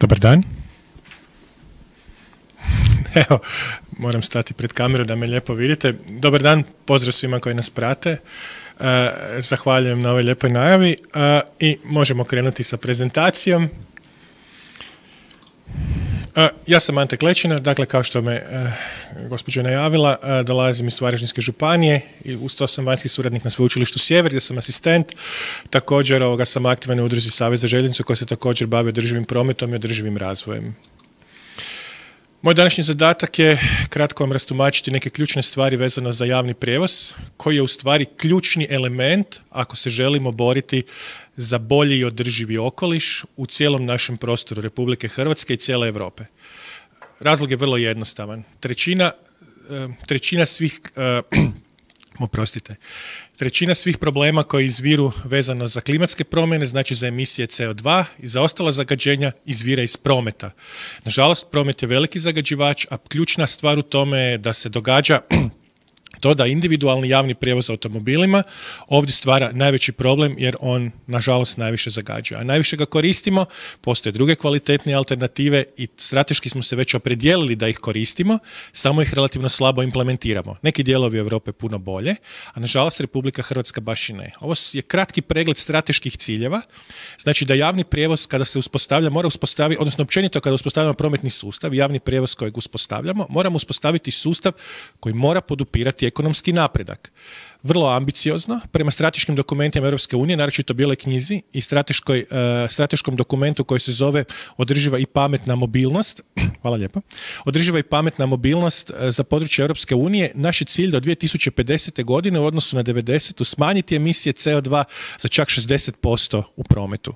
Dobar dan. Evo, moram stati pred kameru da me lijepo vidite. Dobar dan, pozdrav svima koji nas prate. Zahvaljujem na ovoj lijepoj najavi i možemo krenuti sa prezentacijom. Ja sam Ante Klečina, dakle kao što me gospođa najavila, dolazim iz Varaždinske županije i uz to sam vanjski suradnik na Sveučilištu Sjever gdje sam asistent. Također sam aktivan u udruzi Savez za željeznicu koja se također bavi održivim prometom i održivim razvojem. Moj današnji zadatak je kratko vam rastumačiti neke ključne stvari vezano za javni prijevoz, koji je u stvari ključni element ako se želimo boriti za bolji i održivi okoliš u cijelom našem prostoru Republike Hrvatske i cijele Europe. Razlog je vrlo jednostavan. Trećina svih problema koji izviru vezano za klimatske promjene, znači za emisije CO2 i za ostala zagađenja, izvira iz prometa. Nažalost, promet je veliki zagađivač, a ključna stvar u tome je da se događa to da individualni javni prijevoz automobilima ovdje stvara najveći problem jer on, nažalost, najviše zagađuje. A najviše ga koristimo, postoje druge kvalitetne alternative i strateški smo se već opredijelili da ih koristimo, samo ih relativno slabo implementiramo. Neki dijelovi Europe puno bolje, a nažalost Republika Hrvatska baš i ne. Ovo je kratki pregled strateških ciljeva, znači da javni prijevoz kada se uspostavlja, mora uspostaviti, odnosno općenito kada uspostavljamo prometni sustav, javni prijevoz kojeg uspostavljamo, moramo uspostaviti sustav koji mora podupirati ekonomski napredak. Vrlo ambiciozno, prema strateškim dokumentima Europske unije, naročito Bijeloj knjizi i strateškom dokumentu koji se zove Održiva i pametna mobilnost. Hvala lijepo. Održiva i pametna mobilnost za područje Europske unije. Naš je cilj do 2050. godine u odnosu na 90. smanjiti emisije CO2 za čak 60% u prometu.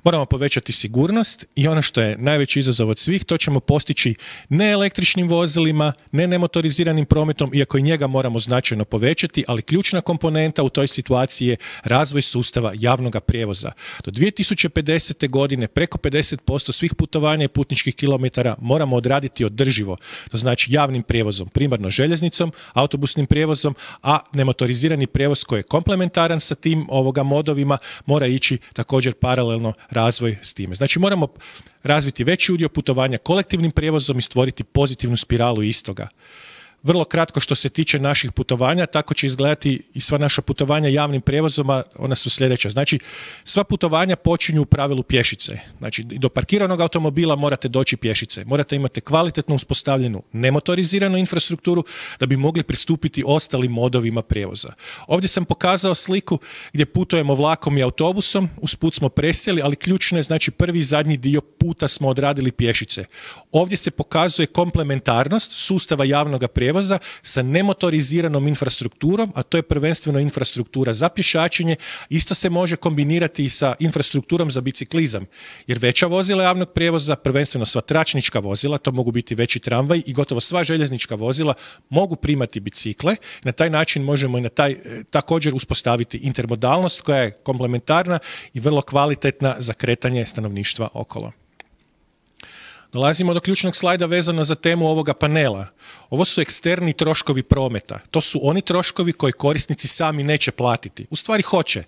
Moramo povećati sigurnost i ono što je najveći izazov od svih, to ćemo postići ne električnim vozilima, ne nemotoriziranim prometom, iako i njega moramo značajno povećati, ali ključna komponenta u toj situaciji je razvoj sustava javnog prijevoza. Do 2050. godine preko 50% svih putovanja i putničkih kilometara moramo odraditi održivo. To znači javnim prijevozom, primarno željeznicom, autobusnim prijevozom, a nemotorizirani prijevoz koji je komplementaran sa tim modovima mora ići također paralelno razvoj s time. Znači moramo razviti veći udio putovanja kolektivnim prijevozom i stvoriti pozitivnu spiralu istoga. Vrlo kratko što se tiče naših putovanja, tako će izgledati i sva naša putovanja javnim prijevozom, ona su sljedeća. Znači, sva putovanja počinju u pravilu pješice. Znači, do parkiranog automobila morate doći pješice. Morate imati kvalitetno uspostavljenu nemotoriziranu infrastrukturu da bi mogli pristupiti ostalim modovima prijevoza. Ovdje sam pokazao sliku gdje putujemo vlakom i autobusom, usput smo presjeli, ali ključno je, znači, prvi i zadnji dio puta smo odradili pješice. Ovdje se pokazuje komplementarnost sustava javnog prijevoza sa nemotoriziranom infrastrukturom, a to je prvenstveno infrastruktura za pješačenje. Isto se može kombinirati i sa infrastrukturom za biciklizam, jer veća vozila javnog prijevoza, prvenstveno sva tračnička vozila, to mogu biti veći tramvaj i gotovo sva željeznička vozila mogu primati bicikle. Na taj način možemo i također uspostaviti intermodalnost koja je komplementarna i vrlo kvalitetna za kretanje stanovništva okolo. Dolazimo do ključnog slajda vezano za temu ovoga panela. Ovo su eksterni troškovi prometa. To su oni troškovi koje korisnici sami neće platiti. U stvari hoće.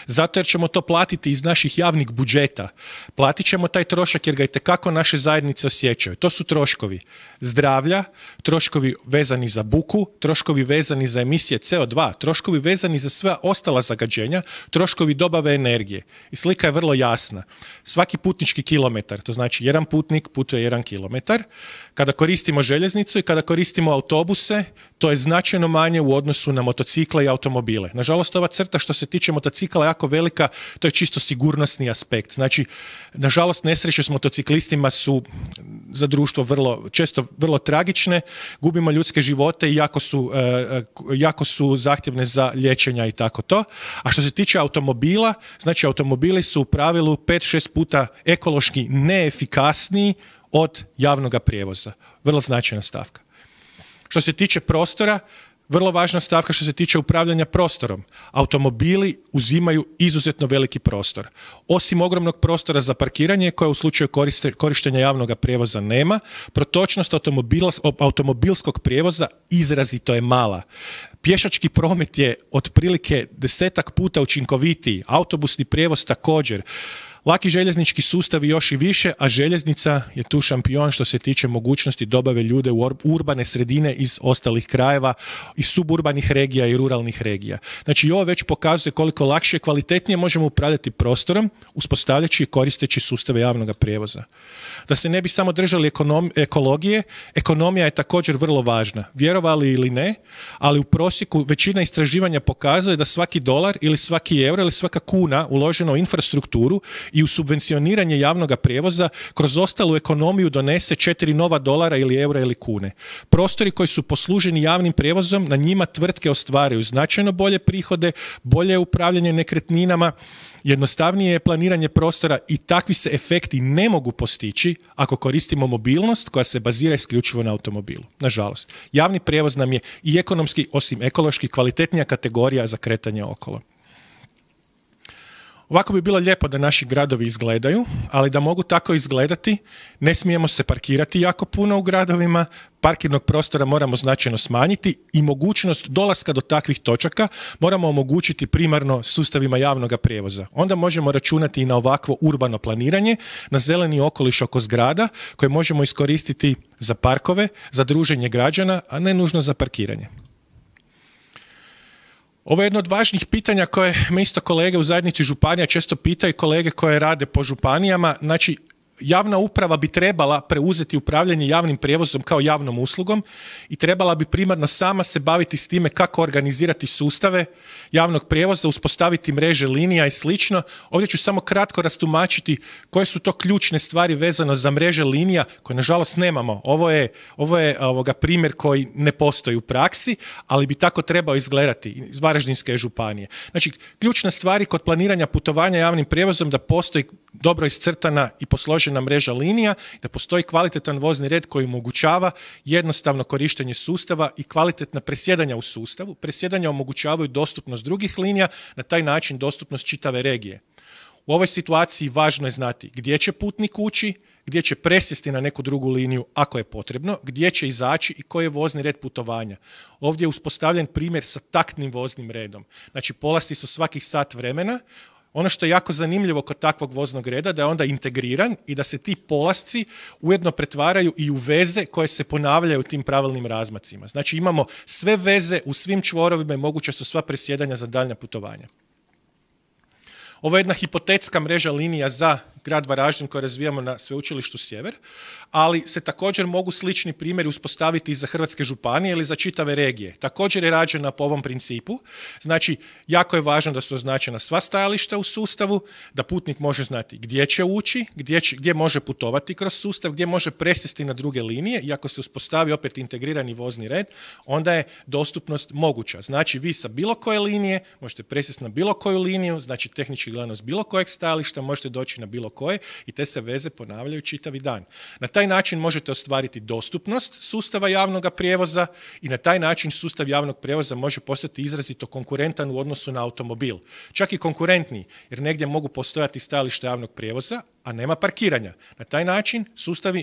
Zato jer ćemo to platiti iz naših javnih budžeta. Platit ćemo taj trošak jer ga itekako naše zajednice osjećaju. To su troškovi zdravlja, troškovi vezani za buku, troškovi vezani za emisije CO2, troškovi vezani za sva ostala zagađenja, troškovi dobave energije. I slika je vrlo jasna. Svaki putnički kilometar, to znači jedan putnik putuje 1 kilometar. Kada koristimo željeznicu i kada koristimo autobuse, to je značajno manje u odnosu na motocikle i automobile. Nažalost, ova crta što se tiče motocikla je jako velika, to je čisto sigurnosni aspekt. Znači, nažalost, nesreće s motociklistima su za društvo često vrlo tragične, gubimo ljudske živote i jako su zahtjevne za liječenja i tako to. A što se tiče automobila, znači automobili su u pravilu 5-6 puta ekološki neefikasniji od javnog prijevoza. Vrlo značajna stavka. Što se tiče prostora, vrlo važna stavka što se tiče upravljanja prostorom. Automobili uzimaju izuzetno veliki prostor. Osim ogromnog prostora za parkiranje, koje u slučaju korištenja javnog prijevoza nema, protočnost automobilskog prijevoza izrazito je mala. Pješački promet je otprilike 10 puta učinkovitiji, autobusni prijevoz također. Laki željeznički sustavi još i više, a željeznica je tu šampion što se tiče mogućnosti dobave ljude u urbane sredine iz ostalih krajeva, iz suburbanih regija i ruralnih regija. Znači, ovo već pokazuje koliko lakše i kvalitetnije možemo upravljati prostorom, uspostavljajući i koristeći sustave javnog prijevoza. Da se ne bi samo držali ekologije, ekonomija je također vrlo važna. Vjerovali ili ne, ali u prosjeku većina istraživanja pokazuje da svaki dolar ili svaki euro ili svaka kuna uloženo u infrastrukturu i u subvencioniranje javnog prijevoza kroz ostalu ekonomiju donese 4 nova dolara ili eura ili kune. Prostori koji su posluženi javnim prijevozom, na njima tvrtke ostvaraju značajno bolje prihode, bolje upravljanje nekretninama, jednostavnije je planiranje prostora i takvi se efekti ne mogu postići ako koristimo mobilnost koja se bazira isključivo na automobilu. Nažalost, javni prijevoz nam je i ekonomski, osim ekološki, kvalitetnija kategorija za kretanje okolo. Ovako bi bilo lijepo da naši gradovi izgledaju, ali da mogu tako izgledati, ne smijemo se parkirati jako puno u gradovima, parkirnog prostora moramo značajno smanjiti i mogućnost dolaska do takvih točaka moramo omogućiti primarno sustavima javnog prijevoza. Onda možemo računati i na ovakvo urbano planiranje, na zeleni okoliš oko zgrada koje možemo iskoristiti za parkove, za druženje građana, a ne nužno za parkiranje. Ovo je jedno od važnih pitanja koje me isto kolege u zajednici županija često pitaju, kolege koje rade po županijama. Znači, javna uprava bi trebala preuzeti upravljanje javnim prijevozom kao javnom uslugom i trebala bi primarno sama se baviti s time kako organizirati sustave javnog prijevoza, uspostaviti mreže linija i slično. Ovdje ću samo kratko rastumačiti koje su to ključne stvari vezano za mreže linija koje nažalost nemamo. Ovo je primjer koji ne postoji u praksi, ali bi tako trebao izgledati iz Varaždinske županije. Znači, ključne stvari kod planiranja putovanja javnim prijevozom da postoji dobro iscrtana i posložena mreža linija, da postoji kvalitetan vozni red koji omogućava jednostavno korištenje sustava i kvalitetna presjedanja u sustavu. Presjedanja omogućavaju dostupnost drugih linija, na taj način dostupnost čitave regije. U ovoj situaciji važno je znati gdje će putnik ući, gdje će presjesti na neku drugu liniju ako je potrebno, gdje će izaći i koji je vozni red putovanja. Ovdje je uspostavljen primjer sa taktnim voznim redom. Znači, polasci su svakih sat vremena. Ono što je jako zanimljivo kod takvog voznog reda da je onda integriran i da se ti polasci ujedno pretvaraju i u veze koje se ponavljaju u tim pravilnim razmacima. Znači, imamo sve veze u svim čvorovima i moguće su sva presjedanja za daljnja putovanja. Ovo je jedna hipotetska mreža linija za grad Varaždin koji razvijamo na Sveučilištu Sjever, ali se također mogu slični primjeri uspostaviti i za hrvatske županije ili za čitave regije. Također je rađena po ovom principu. Znači, jako je važno da su označena sva stajališta u sustavu, da putnik može znati gdje će ući, gdje može putovati kroz sustav, gdje može presjesti na druge linije i ako se uspostavi opet integrirani vozni red, onda je dostupnost moguća. Znači, vi sa bilo koje linije možete presjesti na bilo koju liniju, znači tehnički gledano s bilo kojeg stajališta možete doći na bilo koje i te se veze ponavljaju čitavi dan. Na taj način možete ostvariti dostupnost sustava javnog prijevoza i na taj način sustav javnog prijevoza može postati izrazito konkurentan u odnosu na automobil. Čak i konkurentniji, jer negdje mogu postojati stajališta javnog prijevoza, a nema parkiranja. Na taj način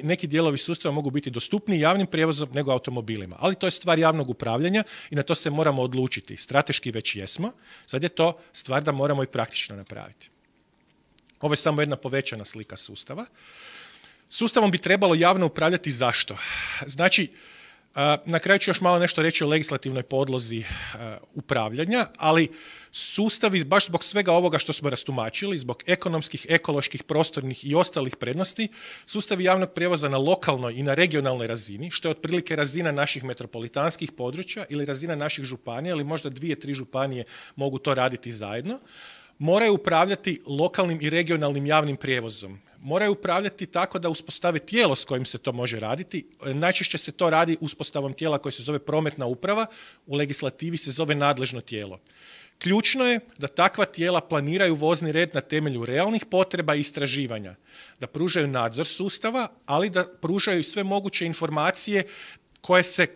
neki dijelovi sustava mogu biti dostupniji javnim prijevozom nego automobilima. Ali to je stvar javnog upravljanja i na to se moramo odlučiti. Strateški već jesmo, sad je to stvar da moramo i praktično napraviti. Ovo je samo jedna povećana slika sustava. Sustavom bi trebalo javno upravljati zašto? Znači, na kraju ću još malo nešto reći o legislativnoj podlozi upravljanja, ali sustavi, baš zbog svega ovoga što smo rastumačili, zbog ekonomskih, ekoloških, prostornih i ostalih prednosti, sustavi javnog prijevoza na lokalnoj i na regionalnoj razini, što je otprilike razina naših metropolitanskih područja ili razina naših županija, ili možda 2-3 županije mogu to raditi zajedno, moraju upravljati lokalnim i regionalnim javnim prijevozom. Moraju upravljati tako da uspostave tijelo s kojim se to može raditi. Najčešće se to radi uspostavom tijela koje se zove prometna uprava, u legislativi se zove nadležno tijelo. Ključno je da takva tijela planiraju vozni red na temelju realnih potreba i istraživanja, da pružaju nadzor sustava, ali da pružaju sve moguće informacije koje se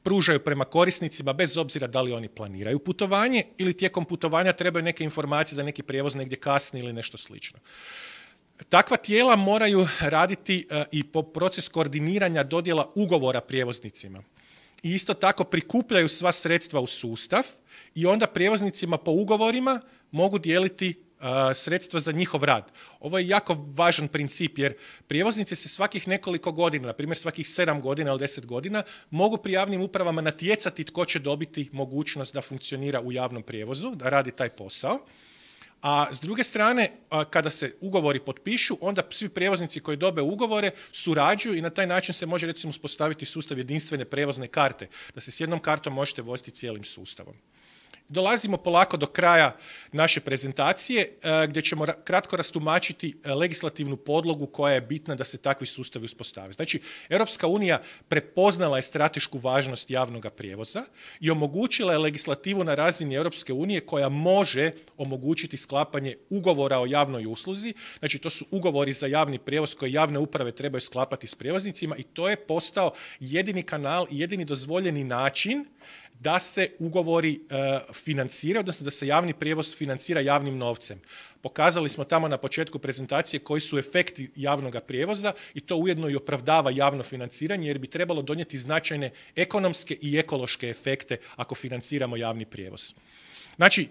pružaju prema korisnicima bez obzira da li oni planiraju putovanje ili tijekom putovanja trebaju neke informacije da neki prijevoz negdje kasni ili nešto slično. Takva tijela moraju raditi i po proces koordiniranja dodjela ugovora prijevoznicima. I isto tako prikupljaju sva sredstva u sustav i onda prijevoznicima po ugovorima mogu dijeliti sredstva za njihov rad. Ovo je jako važan princip jer prijevoznici se svakih nekoliko godina, na primjer svakih 7 godina ili 10 godina, mogu pri javnim upravama natjecati tko će dobiti mogućnost da funkcionira u javnom prijevozu, da radi taj posao. A s druge strane, kada se ugovori potpišu, onda svi prijevoznici koji dobe ugovore surađuju i na taj način se može recimo uspostaviti sustav jedinstvene prijevozne karte, da se s jednom kartom možete voziti cijelim sustavom. Dolazimo polako do kraja naše prezentacije gdje ćemo kratko rastumačiti legislativnu podlogu koja je bitna da se takvi sustavi uspostave. Znači, Europska unija prepoznala je stratešku važnost javnog prijevoza i omogućila je legislativu na razini Europske unije koja može omogućiti sklapanje ugovora o javnoj usluzi. Znači, to su ugovori za javni prijevoz koje javne uprave trebaju sklapati s prijevoznicima i to je postao jedini kanal i jedini dozvoljeni način da se ugovori financiraju, odnosno da se javni prijevoz financira javnim novcem. Pokazali smo tamo na početku prezentacije koji su efekti javnog prijevoza i to ujedno i opravdava javno financiranje jer bi trebalo donijeti značajne ekonomske i ekološke efekte ako financiramo javni prijevoz. Znači,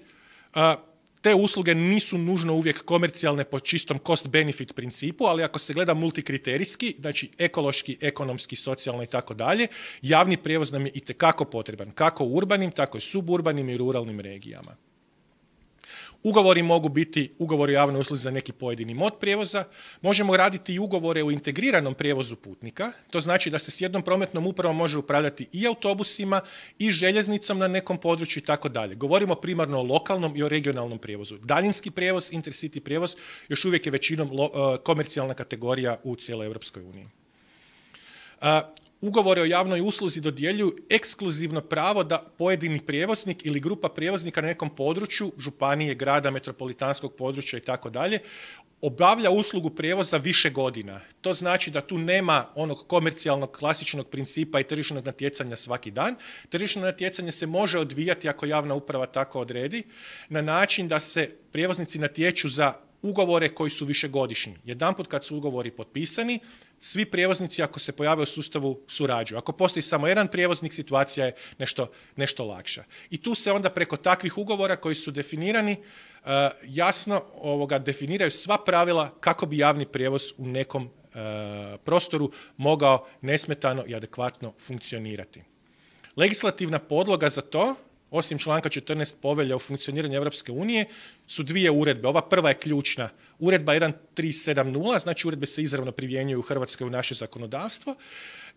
te usluge nisu nužno uvijek komercijalne po čistom cost-benefit principu, ali ako se gleda multikriterijski, znači ekološki, ekonomski, socijalno i tako dalje, javni prijevoz nam je itekako potreban, kako u urbanim, tako i suburbanim i ruralnim regijama. Ugovori mogu biti ugovori o javnoj usluzi za neki pojedini mod prijevoza. Možemo raditi i ugovore o integriranom prijevozu putnika. To znači da se s jednom prometnom upravom može upravljati i autobusima i željeznicom na nekom području i tako dalje. Govorimo primarno o lokalnom i o regionalnom prijevozu. Daljinski prijevoz, intercity prijevoz još uvijek je većinom komercijalna kategorija u cijeloj Europskoj uniji. Ugovore o javnoj usluzi dodjeljuju ekskluzivno pravo da pojedini prijevoznik ili grupa prijevoznika na nekom području, županije, grada, metropolitanskog područja i tako dalje, obavlja uslugu prijevoza više godina. To znači da tu nema onog komercijalnog klasičnog principa i tržišnog natjecanja svaki dan. Tržišno natjecanje se može odvijati ako javna uprava tako odredi na način da se prijevoznici natječu za ugovore koji su višegodišnji. Jedanput kad su ugovori potpisani, svi prijevoznici ako se pojave u sustavu surađuju. Ako postoji samo jedan prijevoznik, situacija je nešto lakša. I tu se onda preko takvih ugovora koji su definirani jasno definiraju sva pravila kako bi javni prijevoz u nekom prostoru mogao nesmetano i adekvatno funkcionirati. Legislativna podloga za to, osim članka 14 povelje o funkcioniranju Europske unije, su dvije uredbe. Ova prva je ključna. Uredba 1370, znači uredbe se izravno primjenjuju u Hrvatskoj u naše zakonodavstvo,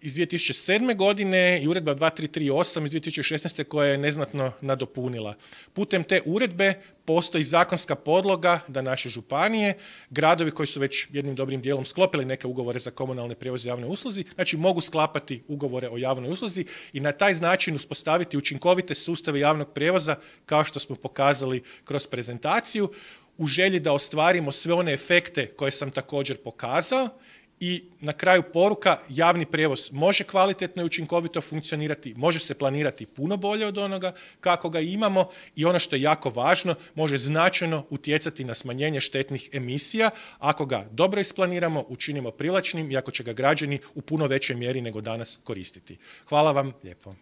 iz 2007. godine i uredba 2338 iz 2016. koja je neznatno nadopunila. Putem te uredbe postoji zakonska podloga da naše županije, gradovi koji su već jednim dobrim dijelom sklopili neke ugovore za komunalne prijevoze i javnoj usluzi, znači mogu sklapati ugovore o javnoj usluzi i na taj način uspostaviti učinkovite sustave javnog prijevoza kao što smo pokazali kroz prezentaciju u želji da ostvarimo sve one efekte koje sam također pokazao. I na kraju poruka, javni prijevoz može kvalitetno i učinkovito funkcionirati, može se planirati puno bolje od onoga kako ga imamo i ono što je jako važno, može značajno utjecati na smanjenje štetnih emisija ako ga dobro isplaniramo, učinimo privlačnim i ako će ga građani u puno većoj mjeri nego danas koristiti. Hvala vam lijepo.